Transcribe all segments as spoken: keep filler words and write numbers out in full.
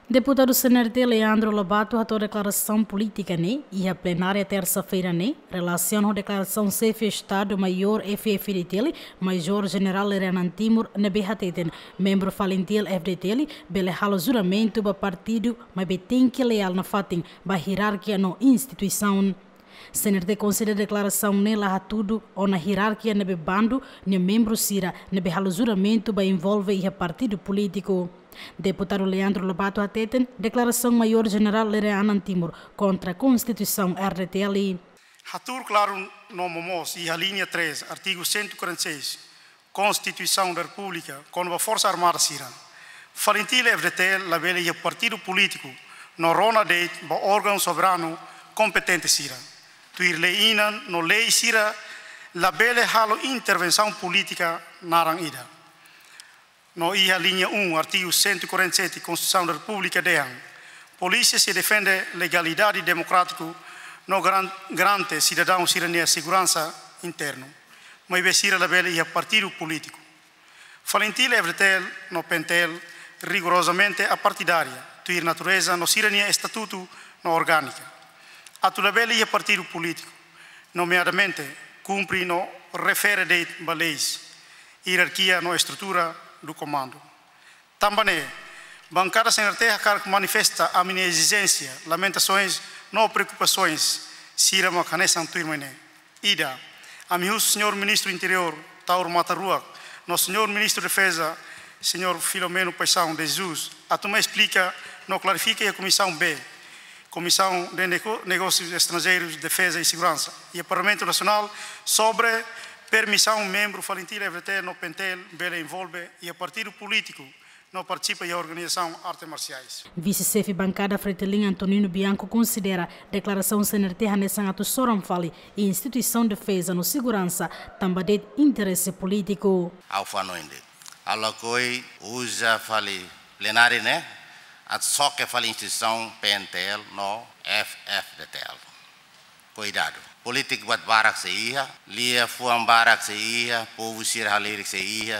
Deputadu C N R T Leandro Lobato hato'o deklarasaun polítika ne'e iha plenária tersa-feira ne'e, relasiona ho deklarasaun Xefe Estadu Maiór F-FDTL, Major Jenerál Lere Anan Timur, ne'ebé hateten membru FALINTIL-FDTL bele halo juramentu ba partidu, maibé tenke leál nafatin ba ierarkia no instituisaun. C N R T konsidera deklarasaun ne'e la hatudu ona ierarkia ne'ebé bandu nia membru sira ne'ebé halo juramentu ba envolve iha partidu polítiku. Deputadu Leandro Lobato hateten deklarasaun Maiór Jenerál Lere Anan Timur kontra Konstituisaun R D T L. Hatuur klaru no momoos iha liña três, artigu cento e quarenta e seis Konstituisaun da Repúblika, kona-ba Forsa Armada sira. FALINTIL-FDTL labele iha partidu polítiku no rona de'it ba órgaun soberanu kompetente sira. Tuir lei inan no lei sira labele halo intervensaun polítika naran ida. No iha liña um, artigu cento e quarenta e sete Konstituisaun da Repúblika dehan: polísia sei defende legalidade demokrátiku no garan-, garante sidadaun sira-nia seguransa internu. Maibé sira labele iha partidu polítiku. FALINTIL-FDTL no PNTL rigorozamente apartidária, tuir natureza no sira-nia estatutu no orgánika. Atu labele iha partidu polítiku, nomeadamente, kumpre no refere de'it ba leis, ierarkia no estrutura do comando. Tanba ne'e, bankada C N R T hakarak manifesta ami-nia ezijénsia, lamentasoens no preokupasoens sira mak hanesan tuirmai ne'e. Ida, ami husu Señór Ministru Interiór, Taur Matan Ruak, no Señór Ministru Defeza, Señór Filomeno Paixão de Jesus, atu mai esplika no klarifika iha Komisaun B, Komisaun de Nego-, Negósius Estranjeirus, Defeza i Seguransa, iha Parlamentu Nasionál, sobre permisaun membru FALINTIL-FDTL no PNTL bele envolve iha partidu polítiku no partisipa iha organizasaun arte marsiais. Vise-Xefe Bankada FRETILIN Antonino Bianco konsidera deklarasaun C N R T hanesan atu soran fali instituisaun defeza no seguransa, tanba de'it interese polítiku. Ha'u fó hanoin de'it. Ha'u lakohi uza fali plenária ne'e atu xoke fali instituisaun PNTL no F-FDTL. Kuidadu. Polítiku buat barak sei iha, liafuan barak sei iha, povu sira halerik sei iha,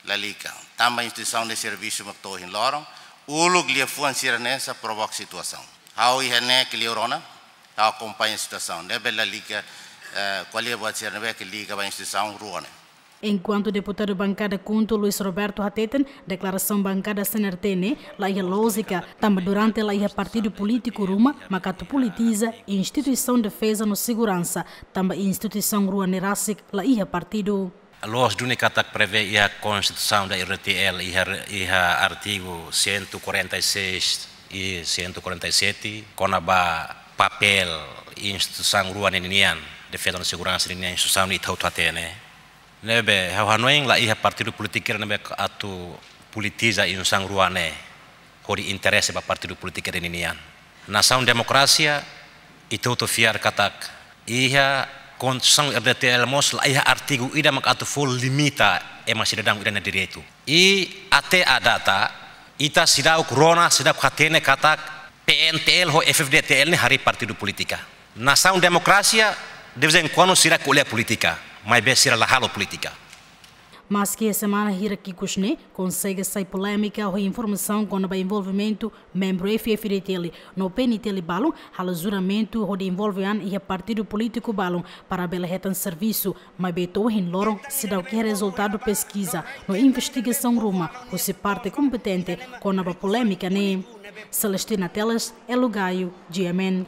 lalika. Tanba instituisaun de servisu mak to'o ohin loron, uluk liafuan sira-ne'e sei provoka situasaun. Ha'u iha ne'e ke liu rona, ha'u akompaña situasaun. Ne'ebé lalika, eh, ko'alia buat sira ne'ebé ke liga ba instituisaun rua ne'e. Enkuantu deputadu bankada KHUNTO Luis Roberto hateten, deklarasaun bankada C N R T ne'e la iha lójika, tanba durante la iha partidu polítiku ruma, mak atu politiza instituisaun defeza no seguransa, tanba instituisaun rua ne'e rasik la iha partidu. Loos duni katak prevee iha Konstituisaun da R D T L, iha, iha artigu cento e quarenta e seis i cento e quarenta e sete, kona-ba papél instituisaun rua ne'e ninian, defeza no seguransa ninian, instituisaun ne'e ita hotu hatene. Ne'ebé, ha'u hanoin la iha partidu polítiku ida ne'ebé atu politiza instituisaun rua ne'e, hodi interese ba partidu polítiku ida ninian. Nasaun demokrasia, ita hotu fiar katak iha Konstituisaun R D T L mós la iha artigu ida mak atu fó limita ema sidadaun ida-nia direitu. I até à data, ita seidauk rona, seidauk hatene katak PNTL ho F-FDTL ne'e harii partidu polítika. Nasaun demokrasia, de vez em quando sira ko'alia polítika, maibé sira la halo polítika. Maski iha semana hirak ikus ne'e, konsege sai polémika ho informasaun kona-ba envolvimentu membru F-FDTL no PNTL balun halo juramentu hodi envolve an iha partidu polítiku balun para bele hetan servisu, maibé to'o ohin loron seidauk iha rezultadu peskiza no investigasaun ruma husi parte kompetente kona-ba polémika ne'e. Celestina Teles, Elo Gaio, G M N.